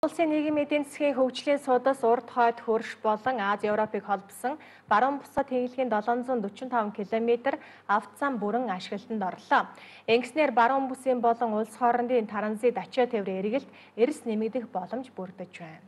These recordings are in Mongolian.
Улсын нийгмийн эдийн засгийн хөгжлийн судас урд хойд хөрш болон Ази Европыг холбосон баруун бусад хэлхийн 745 км автозам бүрэн ашиглалтанд орлоо. Ингэснээр баруун бүсийн болон улс хоорондын транзит ачаа тээврийн эргэлт эрс нэмэгдэх боломж бүрдэж байна.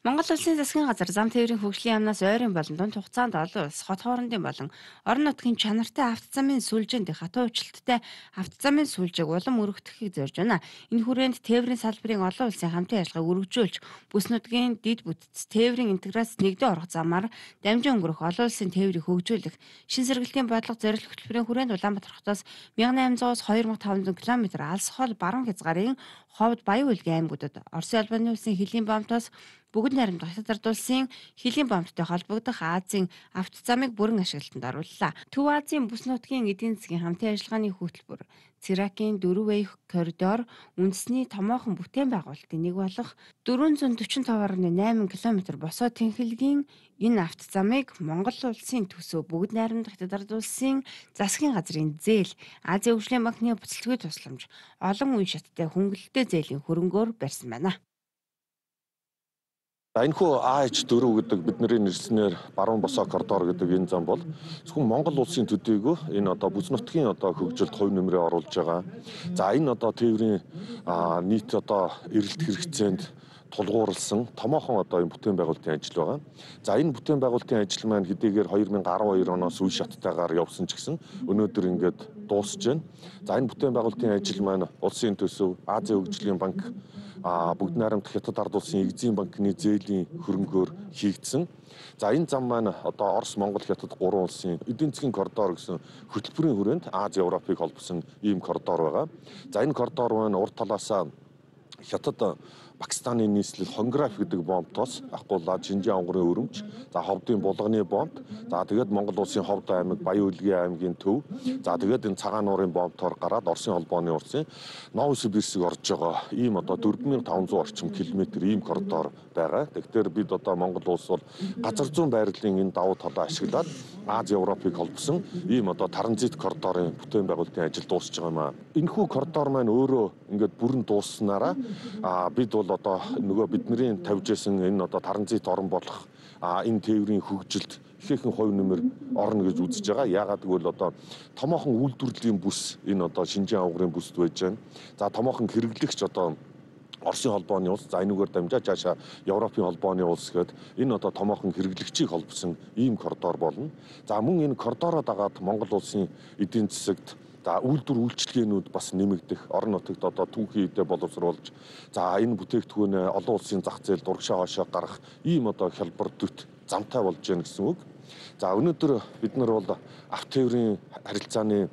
Монгол Улсын засгийн газар зам тээврийн хөгжлийн яамнаас ойрын болон дунд хугацаанд олон улс, хот хоорондын болон орон нутгийн чанартай автозамын сүлжээнд хатуу уучлалттай автозамын сүлжээг улам өргөдөхийг зорж байна. Энэ хүрээнд тээврийн салбарын олон улсын хамтын ажиллагааг өргөжүүлж, бүс нутгийн дид бүтц тээврийн интеграц нэгдэн орох замаар дамжин өнгөрөх олон улсын тээврийг хөгжүүлэх, шин сэргэлтийн бодлого зорилт хөтөлбөрийн хүрээнд Улаанбаатар хотоос 1800-аас 2500 км алс хол баруун хязгаарын ховд Баян Улгийн аймагуудад Оросын албаны улсын хөлийн баамтаас бүгд найрамдах Хятад улсын хөлийн баамттай холбогдох Азийн автозамыг бүрэн ашиглалтанд орууллаа. Төв Азийн бүс нутгийн эдийн засгийн хамтын ажиллагааны хөтөлбөр Циракийн 4-way коридор үндэсний томоохон бүтээн байгуулалтын нэг болох 445.8 км босоо тэнхилгийн энэ автозамыг Монгол улсын төсөв бүгд найрамдах Хятад улсын засгийн газрын зээл, Азийн хөгжлийн банкны буцалтгүй тусламж, олон үе шаттай хөнгөлөлттэй зээлийн хөрөнгөөр барьсан байна. Энэхүү АH4 гэдэг бидний нэрснээр баруун босоо коридор гэдэг энэ зам бол зөвхөн Монгол улсын төдийгүй энэ одоо бүс нутгийн одоо хөгжилд хувь нэмрээ оруулж байгаа. За энэ одоо тээврийн нийт одоо эрэлт хэрэгцээнд тулгуурласан томоохон одоо энэ бүтээн байгуулалтын ажил байгаа. За энэ бүтээн байгуулалтын ажил маань хэдийгээр 2012 оноос үе шаттайгаар явсан ч гэсэн өнөөдөр ингээд дуусж байна. За энэ бүтээн байгуулалтын ажил маань улсын төсөв, Азийн хөгжлийн банк, бүгд найрамдах Хятад ард улсын Экзим банкны зээлийн хөрөнгөөр хийгдсэн. За энэ зам маань одоо Орос, Монгол, Хятад гурван улсын эдийн засгийн коридор гэсэн хөтөлбөрийн хүрээнд Ази Европыг холбосон ийм коридор байгаа. За энэ коридор маань урд талаасаа Хятад Пакистаны нийслэл Хонграф гэдэг бомбтоос ахгуулаад Шинжаан онгорын өрөмж, за ховдын булганы бомб, за тэгээд Монгол улсын Ховд аймаг, Баян Улгийн аймгийн төв, за тэгээд энэ цагаан нуурын бомбтоор гараад Оросын холбооны улсын Новосибирск орж байгаа ийм одоо 4500 орчим километр ийм коридор байгаа. Тэгэхээр бид одоо Монгол улс бол газар зүүн байрлалын энэ давуу талаа ашиглаад Ази Европыг холбосон ийм одоо транзит коридорын бүтээн байгуулалтын ажил дуусч байгаа юм аа. Энэхүү коридор маань өөрөө ингээд бүрэн дуусснараа бид бол одоо нөгөө бидний тавьж исэн энэ одоо транзит орн болох энэ тээврийн хөгжилд ихээхэн хувь нэмэр орно гэж үзэж байгаа. Яагаад гэвэл одоо томоохон үйлдвэрлэлийн бүс энэ одоо Шинжаан угрын бүсд байж байна. За томоохон хэрэглэгч одоо Оросын холбооны улс, за энүүгээр дамжаад цаашаа Европын холбооны улс гэхэд энэ одоо томоохон хэрэглэгчийг холбосон ийм коридор болно. За мөн энэ коридороо дагаад Монгол улсын эдийн засагт за үйлдвэр үйлчилгээнүүд бас нэмэгдэх, орон нутагт одоо түүхий эдэ боловсруулж, за энэ бүтээгдэхүүн олон улсын зах зээлд урагшаа хойшоо гарах ийм одоо хялбар төт замтай болж байна гэсэн үг. За өнөөдөр бид нар бол авто тээврийн харилцааны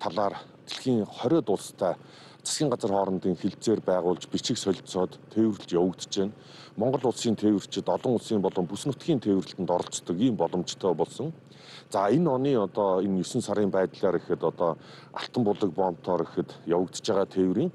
талаар дэлхийн 20 улстай засгийн газар хоорондын хилцээр байгуулж бичиг солилцоод тээвэрлж явагдаж байна. Монгол улсын тээвэрчид олон улсын болон бүс нутгийн тээвэрлэлтэнд оролцдог ийм боломжтой болсон. За энэ оны одоо энэ 9 сарын байдлаар ихэд одоо Алтан булаг бомбтоор ихэд явагдаж байгаа тээврийн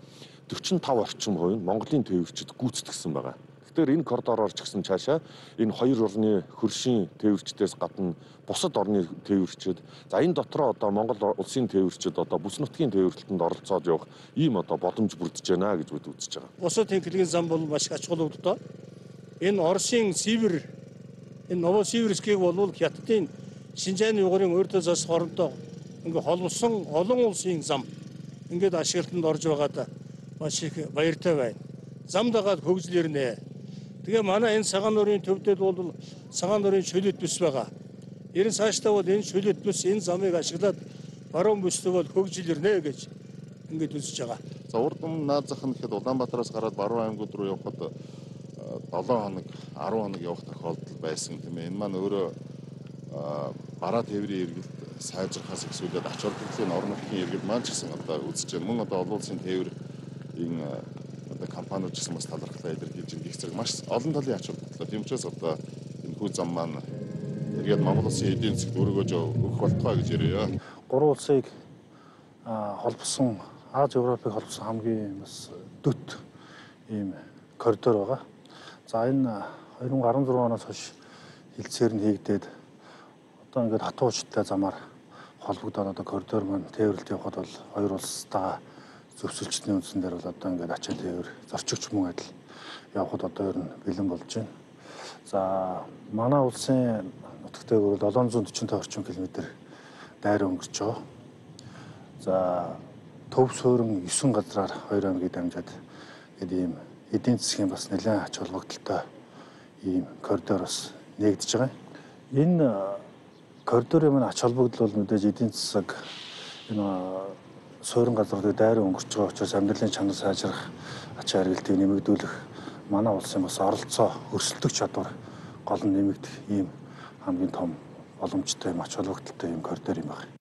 45 орчим хувь нь Монголын тээвэрчид гүйцэтгсэн байгаа. Тэгэхээр энэ коридороор ч гэсэн цаашаа энэ хоёр орны хөршийн тээвэрчдээс гадна бусад орны тээвэрчид, за энэ дотроо одоо Монгол улсын тээвэрчид одоо бүс нутгийн тээвэрлэлтэнд оролцоод явах ийм одоо боломж бүрдэж байна гэж бид үзэж байгаа. Бусад тэнхлэгийн зам бол маш ач холбогдолтой. Энэ Оросын Сибирь, энэ Новосибирскийг бол Хятадын Шинжааны угрын урьд зас хоронтой ингээ холбосон олон улсын зам ингээд ашиглалтанд орж байгаад маш их баяртай байна. Зам дагаад хөгжил ирнэ. Тэгээ манай энэ цагаан нуурын төвдөд бол цагаан нуурын шөлөт бүс байгаа. Ерөн цаашдаа бол энэ шөлөт бүс энэ замыг ашиглаад баруун бүстэй бол хөгжил ирнэ гэж ингээд үзэж байгаа. За урд өмнө наад зах нь гэхэд Улаанбаатараас гараад баруун аймагуд руу явхад 7 хоног 10 хоног явах тохиолдол байсан тийм ээ. Энэ маань өөрөө бараа тээврийн эргэлт сайжрахаас эхлээд ач холбогдлын орон нутгийн эргэлт маань ч гэсэн одоо үзэж байна. Мөн одоо олон улсын тээврийн одоо компаниуд ч гэсэн бас талархлаа илэрхийлж их зэрэг маш олон талын ач холбогдлоо. Тийм учраас одоо энэ хүү зам маань эргээд Монгол улсын эдийн засгт өргөж өгөх болтугай гэж ярив. Гурван улсыг холбосон Ази Европыг холбосон хамгийн бас дөт ийм коридор байгаа. За энэ 2016 оноос хойш хилцээр нь хийгдээд одоо ингээд хатуу уучлалтай замаар холбогдоод одоо коридор маань тээвэрлэлт явахад бол хоёр улстай зөвсөлчтний үндсэн дээр бол одоо ингээд ачаа тээвэр зорчигч мөн адил явхад одоо ер нь бэлэн болж байна. За манай улсын нутаг дээгүүр бол 745 орчим км дайраа өнгөрч байгаа. За төв суурин 9 газраар 2 аймгийг дамжаад гэдэг ийм эдийн засгийн бас нэлээд ач холбогдолтой ийм коридор бас нэгдэж байгаа. Энэ коридорын маань ач холбогдол бол мэдээж эдийн засаг энэ суурин газруудыг дайраа өнгөрч байгаа учраас амьдралын чанар сайжрах, ачаа харилцааг нэмэгдүүлэх манай улсын бас оролцоо өрсөлдөх чадвар гол нь нэмэгдэх ийм хамгийн том боломжтой юм ач холбогдолтой ийм коридор юм байна.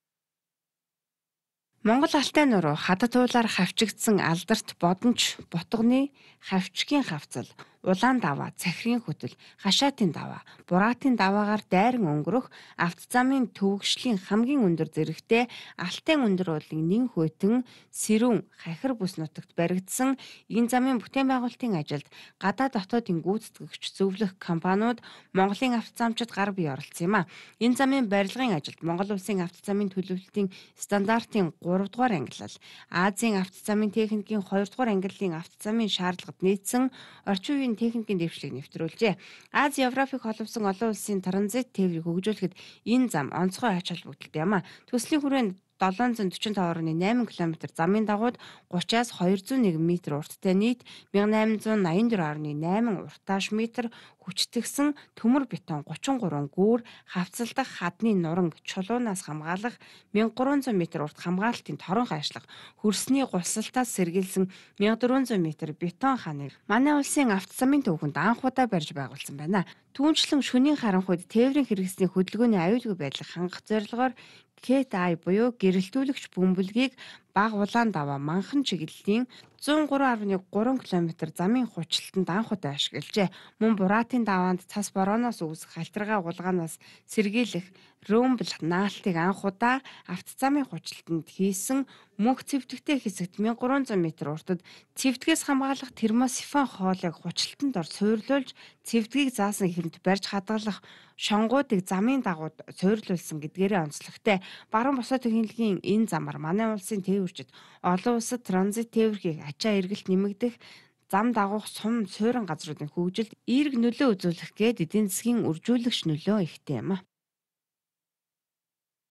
Монгол алтай нуруу хадад уулаар хавчигдсан алдарт бодонч Ботгоны хавчгийн хавцал, улаан даваа, цахирын хөтөл, хашаатын даваа, бураатын даваагаар дайран өнгөрөх автозамын төвөгшлийн хамгийн өндөр зэрэгтэй Алтай өндөр уулын нэн хүйтэн Сэрүүн хахир бүс нутагт баригдсан энэ замын бүтээн байгуулалтын ажилд гадаад дотоодын гүйцэтгэгч зөвлөх компаниуд Монголын автозамчид гар бие оролцсон юм а. Энэ замын барилгын ажилд Монгол улсын автозамын төлөвлөлтийн стандартын 3 дугаар ангилал, Азийн автозамын техникийн 2 дугаар ангиллын автозамын шаардлагад нийцсэн орчин үеийн техникийн дэвшлиг нэвтрүүлжээ. Аз Европыг холбосон олон улсын транзит тээврийг хөгжүүлэхэд энэ зам онцгой ач холбогдолтой юм а. Төслийн хүрээнд 745.8 км замын дагууд 30-аас 201 м урттай нийт 1884.8 уртааш метр хүчтгсэн төмөр бетон 33 гүүр хавцалдах хадны нуранг чулуунаас хамгаалах 1300 м урт хамгаалтын торон хайшлах хөрсний гусалтаас сэргийлсэн 1400 м бетон ханыг манай улсын автозамын төвхөнд анх удаа барьж байгуулсан байна. Түүнчлэн шөнийн харанхуйд тээврийн хэрэгслийн хөдөлгөөний аюулгүй байдлыг хангах зорилгоор КТА буюу гэрэлтүүлэгч бөмбөлгийг бага улаан даваа манхан чиглэлийн 103.3 км замын хучлалтанд анх удаа ашиглажээ. Мөн бураатын даваанд цас борооноос үүсэх халтаргаа гулгаанаас сэргийлэх рөмбл наалтыг анх удаа автозамын хучлалтанд хийсэн мөнх цэвтгэгтэй хэсэгт 1300 м уртад цэвтгэгээс хамгаалах термосифон хоолыг хучлалтанд ор суйрлуулж цэвтгэгийг заасан хэрэмт барьж хадгалах шонгуудыг замын дагууд суйрлуулсан гэдгээрээ онцлогтой. Баруун босоо технологийн энэ замаар манай улсын тээвэрчид олон улсад транзит тээврийг ачаа эргэлт нэмэгдэх зам дагуух сум суурин газруудын хөгжилд эерэг нөлөө үзүүлэх гээд эдийн засгийн үржүүлэгч нөлөө ихтэй юм а.